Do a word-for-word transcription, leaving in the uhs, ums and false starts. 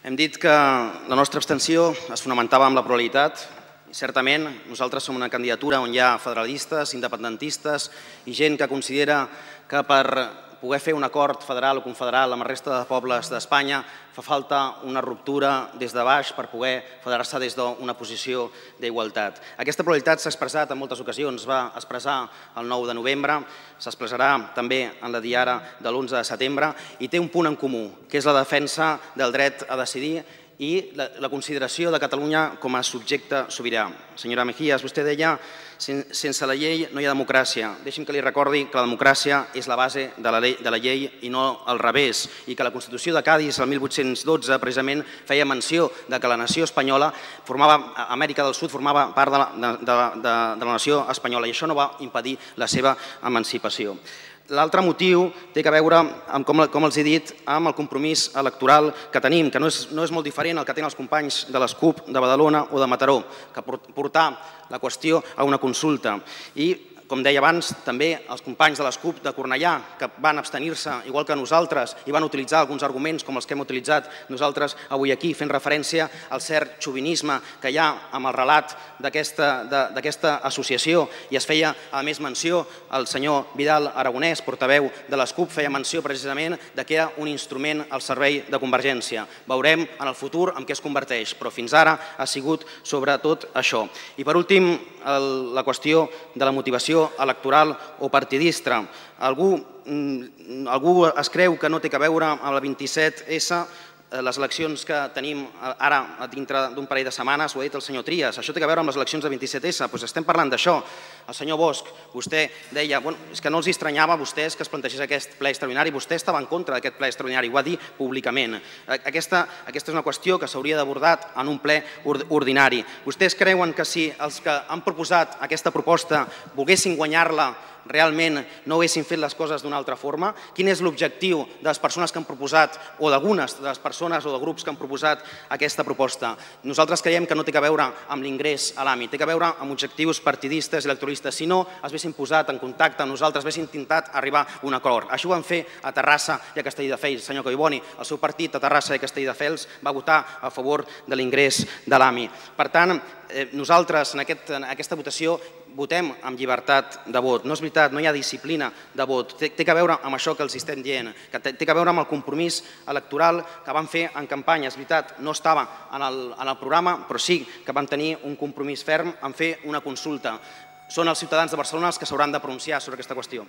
Hem dit que la nostra abstenció es fonamentava en la pluralitat i certament nosaltres som una candidatura on hi ha federalistes, independentistes i gent que considera que per poder fer un acord federal o confederal amb la resta de pobles d'Espanya fa falta una ruptura des de baix per poder federar-se des d'una posició d'igualtat. Aquesta pluralitat s'ha expressat en moltes ocasions, va expressar el nou de novembre, s'expressarà també en la diada de l'onze de setembre i té un punt en comú, que és la defensa del dret a decidir i la consideració de Catalunya com a subjecte sobirà. Senyora Mejías, vostè deia sense la llei no hi ha democràcia. Deixi'm que li recordi que la democràcia és la base de la llei i no al revés, i que la Constitució de Cadis, el mil vuit-cents dotze, precisament feia menció de que la nació espanyola, Amèrica del Sud, formava part de la nació espanyola i això no va impedir la seva emancipació. L'altre motiu té a veure, com els he dit, amb el compromís electoral que tenim, que no és molt diferent al que tenen els companys de les CUP de Badalona o de Mataró, que portar la qüestió a una consulta. I, com deia abans, també els companys de les CUP de Cornellà, que van abstenir-se, igual que nosaltres, i van utilitzar alguns arguments com els que hem utilitzat nosaltres avui aquí, fent referència al cert xovinisme que hi ha amb el relat d'aquesta associació, i es feia, a més, menció, el senyor Vidal Aragonès, portaveu de les CUP, feia menció precisament que era un instrument al servei de Convergència. Veurem en el futur en què es converteix, però fins ara ha sigut sobretot això. I per últim, la qüestió de la motivació electoral o partidista. Algú es creu que no té a veure amb la vint-i-set essa, les eleccions que tenim ara dintre d'un parell de setmanes, ho ha dit el senyor Trias, això té a veure amb les eleccions de vint-i-set essa, doncs estem parlant d'això. El senyor Bosch, vostè deia que no els estranyava a vostès que es plantegés aquest ple extraordinari, vostè estava en contra d'aquest ple extraordinari, ho va dir públicament. Aquesta és una qüestió que s'hauria d'abordar en un ple ordinari. Vostès creuen que si els que han proposat aquesta proposta volguessin guanyar-la realment no haguessin fet les coses d'una altra forma? Quin és l'objectiu de les persones que han proposat, o d'algunes de les persones o de grups que han proposat aquesta proposta? Nosaltres creiem que no té a veure amb l'ingrés a l'A M I, té a veure amb objectius partidistes i electoralistes. Si no, es haguessin posat en contacte amb nosaltres, haguessin intentat arribar a un acord. Això ho van fer a Terrassa i a Castelldefels. Senyor Collboni, el seu partit a Terrassa i Castelldefels va votar a favor de l'ingrés de l'A M I. Per tant, nosaltres en aquesta votació votem amb llibertat de vot. No és veritat, no hi ha disciplina de vot. Té a veure amb això que els estem dient, que té a veure amb el compromís electoral que van fer en campanya. És veritat, no estava en el programa, però sí que van tenir un compromís ferm en fer una consulta. Són els ciutadans de Barcelona els que s'hauran de pronunciar sobre aquesta qüestió.